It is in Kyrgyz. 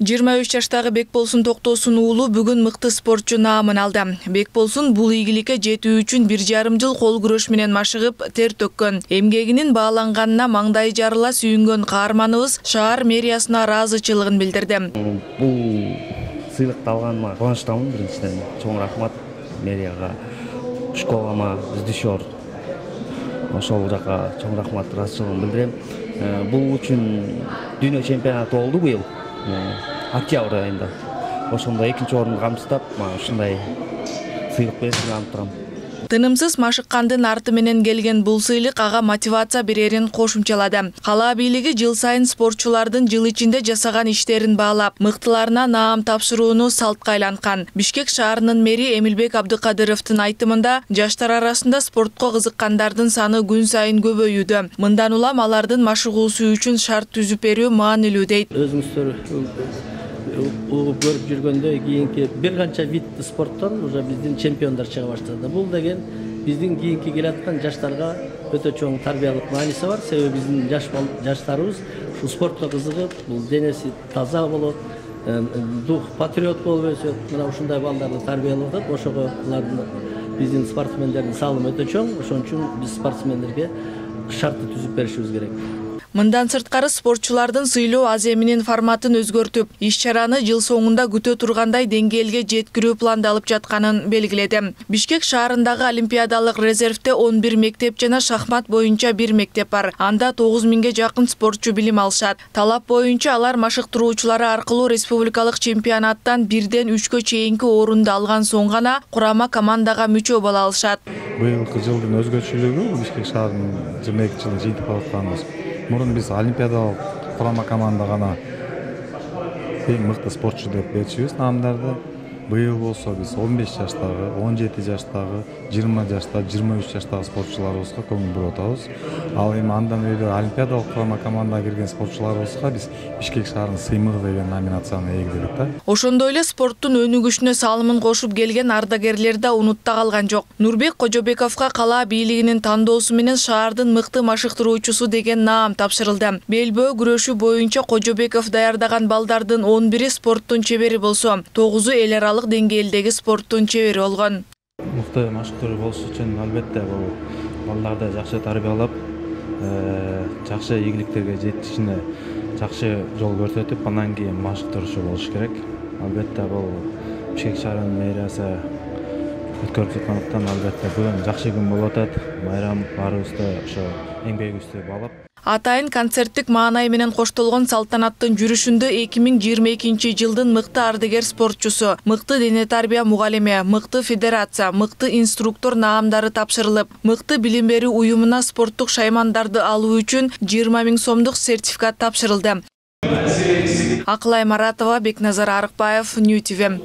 23 жаштагы Бекболсун Токтосун уулу бүгүн мыкты спортчу наамын алды. Бекболсун бул ийгиликке жетүү үчүн 1,5 жыл кол күрөш менен машыгып, тер төккөн. Эмгегинин бааланганына маңдайы жарыла сүйүнгөн каарманыбыз шаар мэриясына ыраазычылыгын билдирди. Бул сыйлыкты алганыма кубанычтамын. Биринчиден чоң рахмат мэрияга, школама, издишор ошол жака чоң рахмат, ыраазычылыгымды билдирем. Бул үчүн дүйнө чемпионаты болду быйыл. Октябрь айында. Ошондо 2-нчи орунду камсыздап, ушундай сыйлык беришин алып турам. Тынымсыз машыккандын арты менен келген бул сыйлык ага мотивация берерин кошумчалады. Кала бийлиги жыл сайын спортчулардын жыл ичинде жасаган иштерин баалап, мыктыларына наам тапшырууну салтка айланткан. Бишкек шаарынын мэри Эмилбек Абдыкадыровдун айтымында, жаштар арасында спортко кызыккандардын саны күн сайын көбөйүүдө. Мындан улам алардын машыгуусу үчүн шарт түзүп берүү маанилүү дейт. Өзүңүздөр угуп көрүп жүргөндө кийинки бир канча вид спорттон уже биздин чемпиондор чыга баштады. Бул деген биздин кийинки келаткан жаштарга өтө чоң тарбиялык мааниси бар. Себеби биздин жаштарыбыз ушул спортко кызыгып, бул денеси таза болот, дух патриот болуп өсөт. Мына ушундай балдарды тарбиялап атат. Ошого биздин спортсмендердин салымы өтө чоң. Ошон үчүн биз спортсмендерге шартты түзүп беришибиз керек. Мындан сырткары спортчулардын сыйлоо аземинин форматын өзгөртүп, иш-чараны жыл соңунда күтө тургандай деңгээлге жеткирүү пландалып жатканын белгиледи. Бишкек шаарындагы олимпиадалык резервде 11 мектеп жана шахмат боюнча 1 мектеп бар. Анда 9000ге жакын спортчу билим алышат. Талап боюнча алар машыктыруучулары аркылуу республикалык чемпионаттан 1ден 3кө чейинки орунду алган соң гана курама командага мүчө боло алышат. Быйылкы жылдын өзгөчөлүгү Бишкек шаарынын 22 жылын жыйынтык атканыбыз. Мурун биз олимпиадалык курама команда гана эң мыкты спортчу деп берчүбүз наамдарды. Быйыл болсо биз 15 жаштагы, 17 жаштагы, 20 жаштагы, 23 жаштагы спортчуларыбызга көңүл буруп атабыз. Ал эми андан өйдө олимпиадалык курама командага кирген спортчуларыбызга биз Бишкек шаарынын сыймыгы деген номинацияны ээледик да. Ошондой эле спорттун өнүгүшүнө салымын кошуп келген ардагерлер да унутта калган жок. Нурбек Кожобековго кала бийлигинин тандоосу менен шаардын мыкты машыктыруучусу деген наам тапшырылды. Белбөө күрөшү боюнча Кожобеков даярдаган балдардын 11-и спорттун чебери болсо, 9-у эл аралык деңгээлдеги спорттун чебери болгон. Мыкты машыктыруу болуш үчүн албетте бул балдарды жакшы тарбиялап, жакшы ийгиликтерге жетишине жакшы жол көрсөтүп, андан кийин машыктыруучу болуш керек. Албетте бул Бишкек шаарынын мэриясы өткөрүп жаткандыктан албетте бүгүн жакшы күн болуп атат. Майрам баарыбызды ошо эмгегибизди баалап. Атайын концерттик маанай менен коштолгон салтанаттын жүрүшүндө 2022 жылдын мыкты ардагер спортчусу, мыкты дене тарбия мугалими, мыкты федерация, мыкты инструктор наамдары тапшырылып, мыкты билим берүү уюмуна спорттук шаймандарды алуу үчүн 20 000 сомдук сертификат тапшырылды. Акылай Маратова, Бекназар Арыкбаев, Нью ТВ.